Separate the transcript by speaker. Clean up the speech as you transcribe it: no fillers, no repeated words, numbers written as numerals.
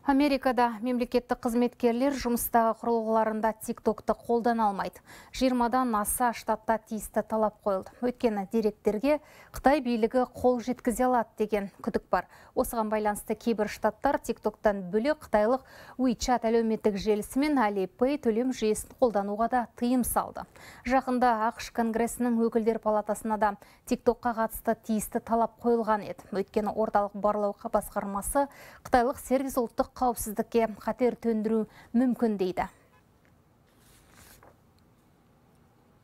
Speaker 1: Америкада мемлекеттік қызметкерлер жұмыстағы құрылғыларында TikTok'ты қолдана алмайды. 20-дан аса штатта тиісті талап қойылды. Өйткені деректерге Қытай билігі қол жеткізе алады деген күдік бар. Осыған байланысты кейбір штаттар TikTok'тан бөлек қытайлық WeChat әлеуметтік желісі мен Alipay төлем жүйесін қолдануға да тыйым салды. Жақында ақш Конгресінің өкілдер палатасына да TikTok'қа қатысты тиісті талап қойылған еді. Өйткені орталық барлау басқармасы қытайлық сервис ұлттық қауіпсіздікке қатер төндіру мүмкін дейді.